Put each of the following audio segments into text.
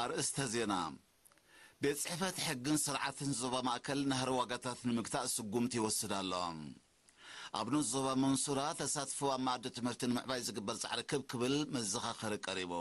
ኣርእስተ ዜና። ቤት ጽሕፈት ሕግን ስርዓትን ዞባ ማእከል ናህሪ ዋጋታት ንምግታእ ስጉምቲ ይወስድ ኣሎ። ኣብ ንኡስ ዞባ መንሱራ ተሳትፎ ኣብ መኣዲ ትምህርቲ ንምዕባይ ዝግበር ጻዕሪ ክብ ክብል መዘኻኸሪ ቀሪቡ።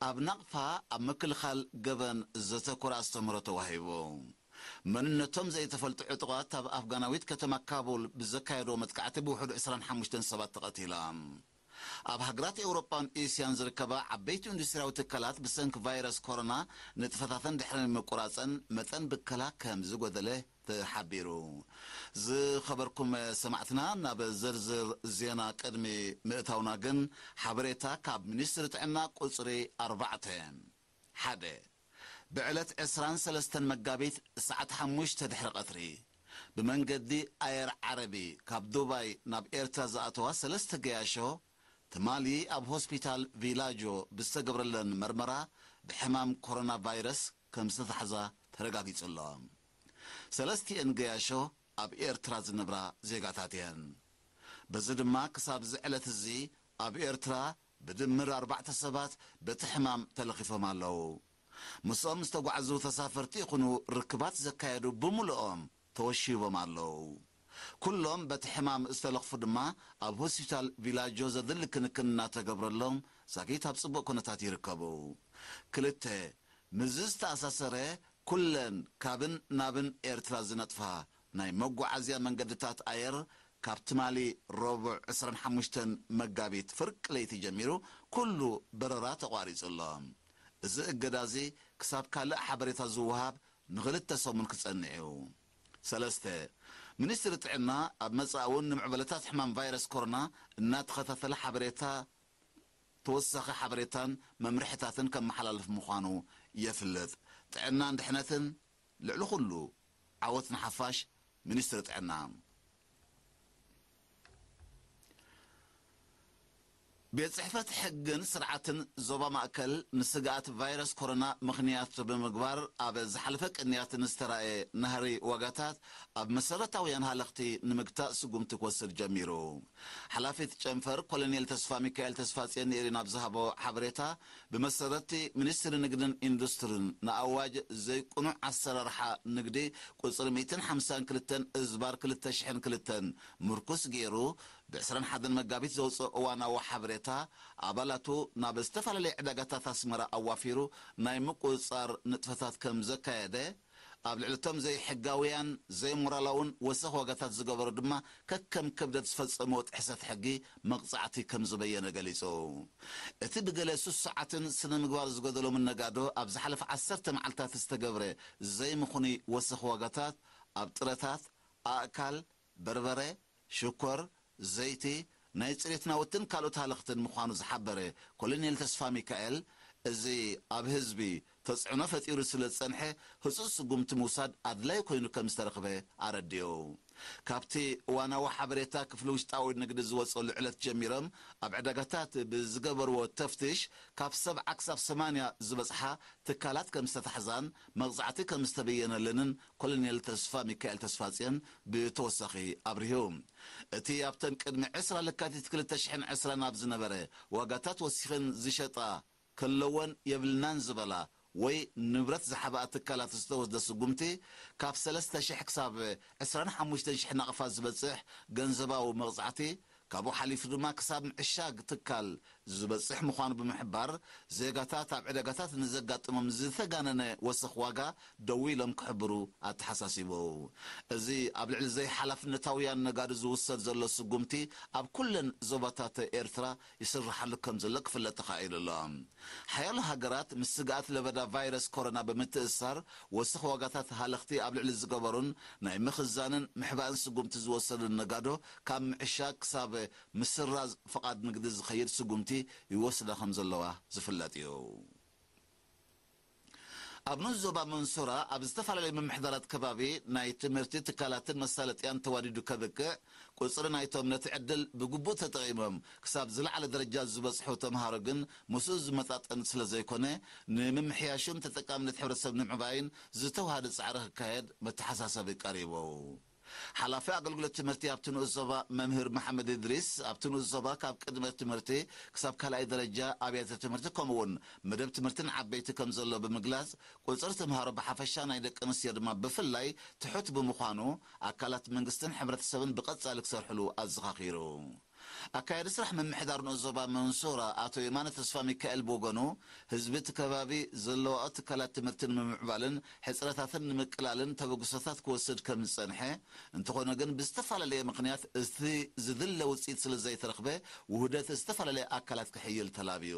ኣብ ናቕፋ ኣብ ምክልኻል ገበን ዘተኮረ ኣስተምህሮ ተዋሂቡ። መንነቶም ዘይተፈልጡ ዕጡቓት ኣብ ኣፍጋናዊት ከተማ ካቡል ብዘካየድዎ መጥቃዕቲ ብውሕዱ ዕስራን ሓሙሽተን ሰባት ተቐቲሎም። ኣብ ሃገራት ኤውሮጳን ኤስያን ዝርከባ ዓበይቲ ኢንዱስትርያዊ ትካላት ብሰንኪ ቫይረስ ኮሮና ንጥፈታተን ድሕሪ ምቁራጸን መጠን ብከላ ከም ዝጎደለ ተሓቢሩ። ዝኸበርኩም ሰማዕትና፣ ናብ ዝርዝር ዜና ቅድሚ ምእታውና ግን ሓበሬታ ካብ ሚኒስትሪ ጥዕና ቁጽሪ ኣርባዕተ። ሓደ፣ ብዕለት ዕስራን ሰለስተን መጋቢት ሰዓት ሓሙሽተ ድሕሪ ቀትሪ ብመንገዲ ኣየር ዓረቢ ካብ ዱባይ ናብ ኤርትራ ዝኣተዋ ሰለስተ ገያሾ ትማሊ ኣብ ሆስፒታል ቪላጆ ብዝተገብረለን መርመራ ብሕማም ኮሮና ቫይረስ ከም ዝተታሕዛ ተረጋጊጹ ኣሎ። ሰለስቲኤን ገያሾ ኣብ ኤርትራ ዝነብራ ዜጋታት እየን። በዚ ድማ ክሳብዚ ዕለት እዚ ኣብ ኤርትራ ብድምር ኣርባዕተ ሰባት በቲ ሕማም ተለኺፎም ኣለዉ። ምስኦም ዝተጓዕዙ ተሳፈርቲ ይኹኑ ርክባት ዘካየዱ ብምልኦም ተወሺቦም ኣለዉ። ኩሎም በቲ ሕማም ዝተለኽፉ ድማ ኣብ ሆስፒታል ቪላጆ ዘድሊ ክንክን እናተገብረሎም ዛጊት ኣብ ጽቡቕ ኩነታት ይርከቡ። ክልተ፣ ምስዚ ዝተኣሳሰረ ኩለን ካብን ናብን ኤርትራ ዝነጥፋ ናይ መጓዓዝያ መንገድታት ኣየር ካብ ትማሊ ረቡዕ ዕስራን ሓሙሽተን መጋቢት ፍርቂ ለይቲ ጀሚሩ ኩሉ በረራ ተቋሪጹ ኣሎ። እዚ እገዳ እዚ ክሳብ ካልእ ሓበሬታ ዝወሃብ ንኽልተ ሰሙን ክጸንዕ እዩ። ሰለስተ፣ ሚኒስትሪ ጥዕና ኣብ መጻኢ እውን ንምዕበለታት ሕማም ቫይረስ ኮሮና እናተኸታተለ ሓበሬታ፣ ተወሳኺ ሓበሬታን መምርሕታትን ከመሓላልፍ ምዃኑ የፍልጥ። ጥዕናን ድሕነትን ልዕሊ ኩሉ፣ ዓወት ንሓፋሽ። ሚኒስትሪ ጥዕና። ቤት ጽሕፈት ሕግን ስርዓትን ዞባ ማእከል ንስግኣት ቫይረስ ኮሮና ምኽንያት ብምግባር ኣብ ዝሓለፈ ቅንያት ንዝተራእየ ናህሪ ዋጋታት ኣብ መሰረታውያን ሃለኽቲ ንምግታእ ስጉምቲ ክወስድ ጀሚሩ። ሓላፊት ጨንፈር ኮሎኔል ተስፋ ሚካኤል ተስፋጽዮን ንኤሪና ኣብ ዝሃቦ ሓበሬታ፣ ብመሰረት'ቲ ሚኒስትሪ ንግድን ኢንዱስትሪን ንኣዋጅ ዘይቅኑዕ ኣሰራርሓ ንግዲ ቁጽሪ ሚእትን ሓምሳን ክልተን እዝባር ክልተ ሽሕን ክልተን ምርኩስ ገይሩ፣ ብዕስራን ሓደን መጋቢት ዘውጽኦ እዋናዊ ሓበሬታ፣ ኣባላቱ ናብ ዝተፈላለየ ዕዳጋታት ኣስመራ ኣዋፊሩ ናይ ምቁጽጻር ንጥፈታት ከም ዘካየደ፣ ኣብ ልዕሊ እቶም ዘይሕጋውያን ዘይሞራላውን ወሰኽ ዋጋታት ዝገበሩ ድማ ከከም ክብደት ዝፈጸምዎ ጥሕሰት ሕጊ መቕጻዕቲ ከም ዝበየነ ገሊጹ። እቲ ብገለ ስሱዓትን ስነ ምግባር ዝጎደሎምን ነጋዶ ኣብ ዝሓለፈ ዓሰርተ መዓልታት ዝተገብረ ዘይምኹኑይ ወሰኽ ዋጋታት ኣብ ጥረታት፣ ኣእካል፣ በርበረ፣ ሽኮር፣ ዘይቲ፣ ናይ ጽሬት ናውትን ካልኦት ሃለኽትን ምዃኑ ዝሓበረ ኮሎኔል ተስፋ ሚካኤል፣ እዚ ኣብ ህዝቢ ተጽዕኖ ፈጢሩ ስለ ዝጸንሐ ህጹጽ ስጉምቲ ምውሳድ ኣድላይ ኮይኑ ከም ዝተረኽበ ኣረዲኡ። ካብቲ እዋናዊ ሓበሬታ ክፍሊ ውሽጣዊ ንግዲ ዝወጸሉ ዕለት ጀሚሮም ኣብ ዕዳጋታት ብዝገበርዎ ተፍትሽ ካብ ሰብዓ ክሳብ ሰማንያ ዝበጽሓ ትካላት ከም ዝተታሕዛን መቕጻዕቲ ከም ዝተበየነለንን ኮሎኔል ተስፋ ሚካኤል ተስፋጽዮን ብተወሳኺ ኣብሪሁ። እቲ ኣብተን ቅድሚ ዕስራ ለካቲት ክልተ ሽሕን ዕስራን ኣብ ዝነበረ ዋጋታት ወሲኸን ዝሸጣ ከለወን የብልናን ዝበላ ወይ ንብረት ዝሓብኣ ትካላት ዝተወስደ ስጉምቲ ካብ ሰለስተ ሽሕ ክሳብ ዕስራን ሓሙሽተን ሽሕ ናቕፋ ዝበጽሕ ገንዘባዊ መቕጻዕቲ፣ ካብኡ ሓሊፉ ድማ ክሳብ ምዕሻግ ትካል ዝበጽሕ ምዃኑ ብምሕባር፣ ዜጋታት ኣብ ዕዳጋታት ንዘጋጥሞም ዝተጋነነ ወሰኽ ዋጋ ደው ኢሎም ክሕብሩ ኣተሓሳሲቡ። እዚ ኣብ ልዕሊ ዘይሓላፍነታውያን ነጋዶ ዝውሰድ ዘሎ ስጉምቲ ኣብ ኩለን ዞባታት ኤርትራ ይስርሓሉ ከም ዘሎ ክፍለጥ ተኻኢሉ ኣሎ። ሓያሎ ሃገራት ምስ ስግኣት ለበዳ ቫይረስ ኮሮና ብምትእስሳር ወሰኽ ዋጋታት ሃለኽቲ ኣብ ልዕሊ ዝገበሩን ናይ ምኽዛንን ምሕባእን ስጉምቲ ዝወሰዱን ነጋዶ ካብ ምዕሻግ ክሳብ ምስራዝ ፍቓድ ንግዲ ዝኸይድ ስጉምቲ ይወስዳ ከም ዘለዋ ዝፍለጥ እዩ። ኣብ ንኡስ ዞባ መንሱራ ኣብ ዝተፈላለዩ ምምሕዳራት ከባቢ ናይ ትምህርቲ ትካላትን መሳለጥያን ተዋዲዱ ከብቅዕ፣ ቁጽሪ ናይቶም ነቲ ዕድል ብግቡእ ተጠቒሞም ክሳብ ዝለዓለ ደረጃ ዝበጽሑ ተምሃሮ ግን ምስኡ ዝመጣጠን ስለ ዘይኮነ፣ ንምምሕያሹን ተጠቃምነት ሕብረተሰብ ንምዕባይን ዝተዋሃደ ጻዕሪ ክካየድ መተሓሳሰቢ ቀሪቡ። ሓላፊ ኣገልግሎት ትምህርቲ ኣብቲ ንኡስ ዞባ መምህር መሓመድ እድሪስ፣ ኣብቲ ንኡስ ዞባ ካብ ቅድመ ትምህርቲ ክሳብ ካልኣይ ደረጃ ኣብያተ ትምህርቲ ከምኡውን መደብ ትምህርትን ዓበይቲ ከም ዘሎ ብምግላጽ፣ ቁጽሪ ተምሃሮ ብሓፈሻ ናይ ደቂ ኣንስትዮ ድማ ብፍላይ ትሑት ብምዃኑ ኣካላት መንግስትን ሕብረተሰብን ብቐጻሊ ክሰርሕሉ ኣዘኻኺሩ። ኣካያዲ ስራሕ ምምሕዳር ንኡስ ዞባ መንሱራ ኣቶ የማነ ተስፋ ሚካኤል ብወገኑ፣ ህዝቢ እቲ ከባቢ ዘለዋኦ ትካላት ትምህርቲ ንምምዕባልን ሕጽረታትን ንምቅላልን ተበግሶታት ክወስድ ከም ዝጸንሐ፣ እንተኾነ ግን ብዝተፈላለየ ምኽንያት እቲ ዝድለ ውጽኢት ስለ ዘይተረኽበ ውህደት ዝተፈላለየ ኣካላት ክሕይል ተላብዩ።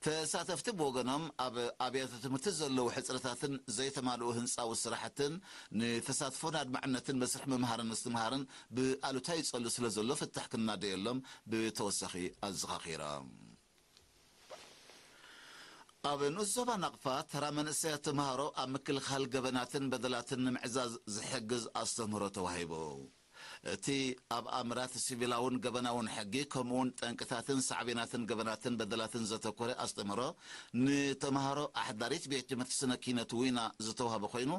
ተሳተፍቲ ብወገኖም ኣብ ኣብያተ ትምህርቲ ዘለዉ ሕጽረታትን ዘይተማልኡ ህንጻዊ ስራሕትን ንተሳትፎን ኣድማዕነትን መስርሕ ምምሃርን ምስትምሃርን ብኣሉታ ይጸሉ ስለ ዘሎ ፍታሕ ክናደየሎም ብተወሳኺ ኣዘኻኺሮም። ኣብ ንኡስ ዞባ ናቕፋ ተራ መንእሰያት ተምሃሮ ኣብ ምክልኻል ገበናትን በደላትን ንምዕዛዝ ዝሕግዝ ኣስተምህሮ ተዋሂቡ። እቲ ኣብ ኣምራት ሲቪላውን ገበናውን ሕጊ ከምኡውን ጠንቅታትን ሳዕቤናትን ገበናትን በደላትን ዘተኮረ ኣስተምህሮ ንተምሃሮ ኣሕዳሪት ቤት ትምህርቲ ስነ ኪነት ዊና ዝተዋህበ ኮይኑ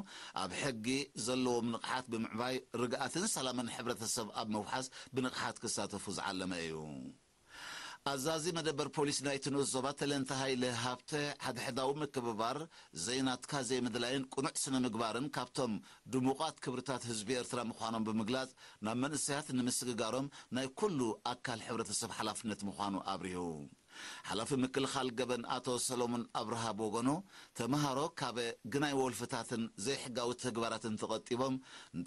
ኣብ ሕጊ ዘለዎም ንቕሓት ብምዕባይ ርግኣትን ሰላምን ሕብረተሰብ ኣብ ምውሓስ ብንቕሓት ክሳተፉ ዝዓለመ እዩ። ኣዛዚ መደበር ፖሊስ ናይቲ ንኡስ ዞባ ተለንተ ሃይለ ሃብተ፣ ሓድሕዳዊ ምክብባር፣ ዘይናትካ ዘይምድላይን ቅኑዕ ስነ ምግባርን ካብቶም ድሙቓት ክብርታት ህዝቢ ኤርትራ ምዃኖም ብምግላጽ፣ ናብ መንእሰያት ንምስግጋሮም ናይ ኩሉ ኣካል ሕብረተሰብ ሓላፍነት ምዃኑ ኣብሪሁ። ሓላፊ ምክልኻል ገበን ኣቶ ሰሎሞን ኣብርሃ ብወገኑ፣ ተምሃሮ ካብ ግናይ ወልፍታትን ዘይሕጋዊ ተግባራትን ተቐጢቦም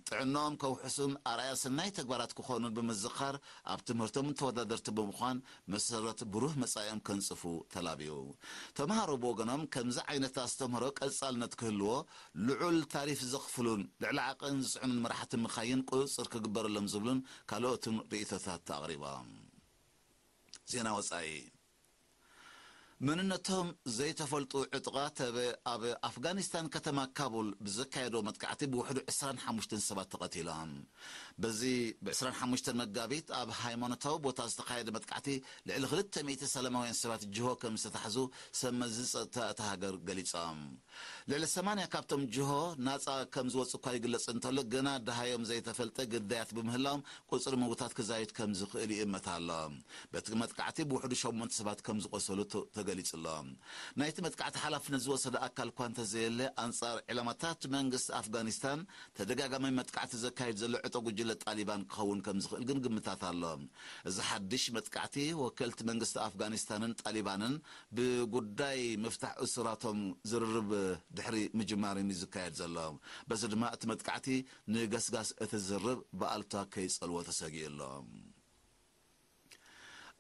ጥዕናኦም ከውሕሱን ኣርኣያ ሰናይ ተግባራት ክኾኑን ብምዝኻር፣ ኣብ ትምህርቶም ተወዳደርቲ ብምዃን መሰረት ብሩህ መጻኢኦም ከንጽፉ ተላብዩ። ተምሃሮ ብወገኖም ከምዚ ዓይነት ኣስተምህሮ ቀጻልነት ክህልዎ ልዑል ታሪፍ ዘኽፍሉን ልዕሊ ዓቐን ዝጽዕኑን መራሕቲ ምኻይን ቁጽጽር ክግበረሎም ዝብሉን ካልኦትን ርእይቶታት ኣቕሪቦም። ዜና ወጻኢ። መንነቶም ዘይተፈልጡ ዕጡቓት ኣብ ኣብ ኣፍጋኒስታን ከተማ ካቡል ብዘካየዶ መጥቃዕቲ ብውሕዱ ዕስራን ሓሙሽተን ሰባት ተቐቲሎም። በዚ ብ ዕስራን ሓሙሽተን መጋቢት ኣብ ሃይማኖታዊ ቦታ ዝተኻየደ መጥቃዕቲ ልዕሊ ክልተ ሚእቲ ሰላማውያን ሰባት ጅሆ ከም ዝተታሕዙ ሰብ መዚ ጸጥታ እታ ሃገር ገሊጾም። ልዕሊ ሰማንያ ካብቶም ጅሆ ናጻ ከም ዝወጹ እኳ ይግለጽ እንተሎ፣ ግና ደሃዮም ዘይተፈልጠ ግዳያት ብምህላዎም ቁጽሪ ምውታት ክዛይድ ከም ዝኽእል ይእመት ኣሎ። በቲ መጥቃዕቲ ብውሕዱ ሸሞንተ ሰባት ከም ዝቖሰሉ ተ-፣ ተገሊጹ ኣሎ። ናይቲ መጥቃዕቲ ሓላፍነት ዝወሰደ ኣካል እኳ እንተዘየለ፣ ኣንጻር ዕላማታት መንግስቲ ኣፍጋኒስታን ተደጋጋሚ መጥቃዕቲ ዘካይድ ዘሎ ዕጡቕ ጉጅለ ጣሊባን ክኸውን ከም ዝኽእል ግን ግምታት ኣሎ። እዚ ሓድሽ መጥቃዕቲ፣ ወከልቲ መንግስቲ ኣፍጋኒስታንን ጣሊባንን ብጉዳይ ምፍታሕ እሱራቶም ዝርርብ ድሕሪ ምጅማርን እዩ ዝካየድ ዘሎ። በዚ ድማ እቲ መጥቃዕቲ ንገስጋስ እቲ ዝርርብ ብኣሉታ ከይጸልዎ ተሰጊኡ ኣሎ።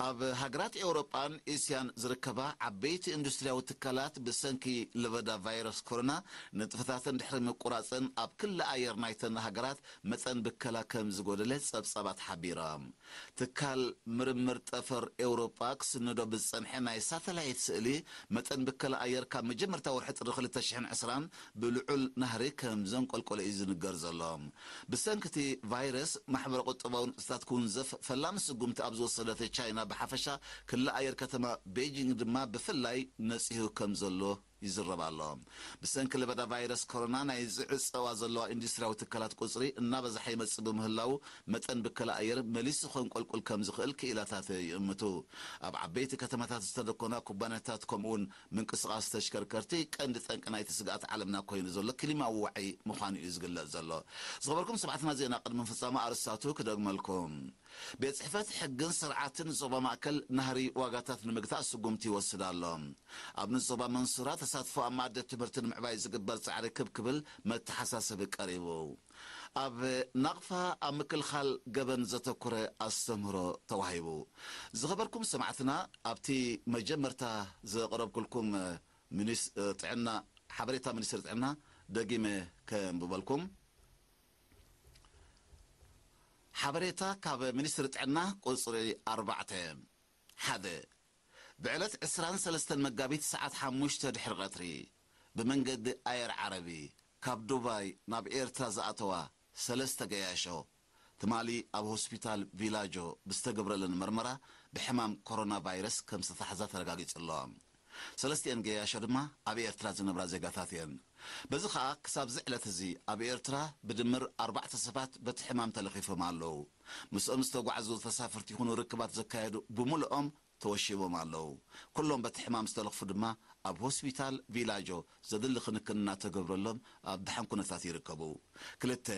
ኣብ ሃገራት ኤውሮጳን እስያን ዝርከባ ዓበይቲ ኢንዱስትርያዊ ትካላት ብሰንኪ ለበዳ ቫይረስ ኮሮና ንጥፈታተን ድሕሪ ምቁራጸን ኣብ ክሊ ኣየር ናይተን ሃገራት መጠን ብከላ ከም ዝጎደለ ጸብጻባት ሓቢሮም። ትካል ምርምር ጠፈር ኤውሮጳ ክስንዶ ብዝጸንሐ ናይ ሳተላይት ስእሊ መጠን ብከላ ኣየር ካብ መጀመርታ ወርሒ ጥሪ ክልተ ሽሕን ዕስራን ብልዑል ናህሪ ከም ዘንቆልቆለ እዩ ዝንገር ዘሎ። ብሰንኪ እቲ ቫይረስ ማሕበረ ቁጠባዊ ንጥፈታት ክውንዘፍ ፈላሚ ስጉምቲ ኣብ ዝወሰደት ቻይና ብሓፈሻ ክሊ ኣየር ከተማ ቤጂንግ ድማ ብፍላይ ነጺሁ ከም ዘሎ ይዝረብ ኣሎ። ብሰንኪ ለበዳ ቫይረስ ኮሮና ናይ ዝዕጸዋ ዘለዋ ኢንዱስትርያዊ ትካላት ቁጽሪ እናበዝሐ ይመጽእ ብምህላዉ መጠን ብከላ ኣየር መሊሱ ከንቆልቁል ከም ዝኽእል ክኢላታት ይእምቱ። ኣብ ዓበይቲ ከተማታት ዝተደኮና ኩባንያታት ከምኡውን ምንቅስቓስ ተሽከርከርቲ ቀንዲ ጠንቂ ናይቲ ስግኣት ዓለምና ኮይኑ ዘሎ ክሊማዊ ዋዒ ምዃኑ እዩ ዝግለጽ ዘሎ። ዝኸበርኩም ሰማዕትና ዜና ቅድሚ ፍጻመ ኣርስታቱ ክደግመልኩም። ቤት ጽሕፈት ሕግን ስርዓትን ዞባ ማእከል ናህሪ ዋጋታት ንምግታእ ስጉምቲ ይወስድ ኣሎ። ኣብ ንዞባ መንሱራ ተሳትፎ ኣብ ማእዲ ትምህርቲ ንምዕባይ ዝግበር ጻዕሪ ክብ ክብል መተሓሳሰቢ ቀሪቡ። ኣብ ናቕፋ ኣብ ምክልኻል ገበን ዘተኮረ ኣስተምህሮ ተዋሂቡ። ዝኸበርኩም ሰማዕትና ኣብቲ መጀመርታ ዘቕረብኩልኩም ሚኒስ-፣ ጥዕና፣ ሓበሬታ ሚኒስትሪ ጥዕና ደጊመ ከንብበልኩም። ሓበሬታ ካብ ሚኒስትሪ ጥዕና ቁጽሪ ኣርባዕተ። ሓደ፣ ብዕለት ዕስራን ሰለስተን መጋቢት ሰዓት ሓሙሽተ ድሕሪ ቀትሪ ብመንገዲ ኣየር ዓረቢ ካብ ዱባይ ናብ ኤርትራ ዝኣተዋ ሰለስተ ገያሾ ትማሊ ኣብ ሆስፒታል ቪላጆ ብዝተገብረለን መርመራ ብሕማም ኮሮና ቫይረስ ከም ዝተታሕዛ ተረጋጊጹ ኣሎ። ሰለስቲኤን ገያሾ ድማ ኣብ ኤርትራ ዝነብራ ዜጋታት እየን። በዚ ኸኣ ክሳብ እዚ ዕለት እዚ ኣብ ኤርትራ ብድምር ኣርባዕተ ሰባት በቲ ሕማም ተለኺፎም ኣለዉ። ምስኦም ዝተጓዕዙ ተሳፈርቲ ይኹኑ ርክባት ዘካየዱ ብምልኦም ተወሺቦም ኣለዉ። ኩሎም በቲ ሕማም ዝተለኽፉ ድማ ኣብ ሆስፒታል ቪላጆ ዘድሊ ክንክን እናተገብረሎም ኣብ ደሓን ኩነታት ይርከቡ። ክልተ፣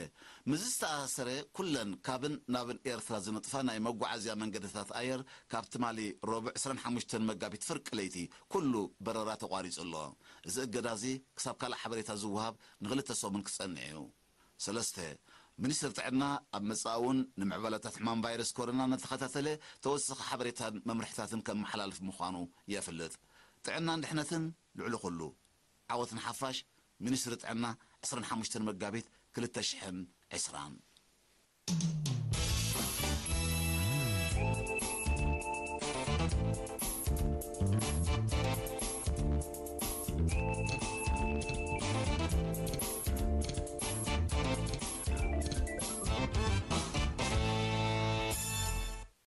ምስ ዝተኣሳሰረ ኩለን ካብን ናብን ኤርትራ ዝነጥፋ ናይ መጓዓዝያ መንገድታት ኣየር ካብ ትማሊ ረቡዕ ዕስራን ሓሙሽተን መጋቢት ፍርቂ ለይቲ ኩሉ በረራ ተቋሪጹ ኣሎ። እዚ እገዳ እዚ ክሳብ ካልእ ሓበሬታ ዝወሃብ ንኽልተ ሰሙን ክጸንዕ እዩ። ሰለስተ፣ ሚኒስትሪ ጥዕና ኣብ መጻኢ እውን ንምዕባለታት ሕማም ቫይረስ ኮሮና እናተኸታተለ ተወሳኺ ሓበሬታን መምርሕታትን ከመሓላልፍ ምዃኑ የፍልጥ። ጥዕናን ድሕነትን ልዕሊ ኩሉ። ዓወት ንሓፋሽ። ሚኒስትሪ ጥዕና ዕስራን ሓሙሽተን መጋቢት ክልተ ሽሕን ዕስራን።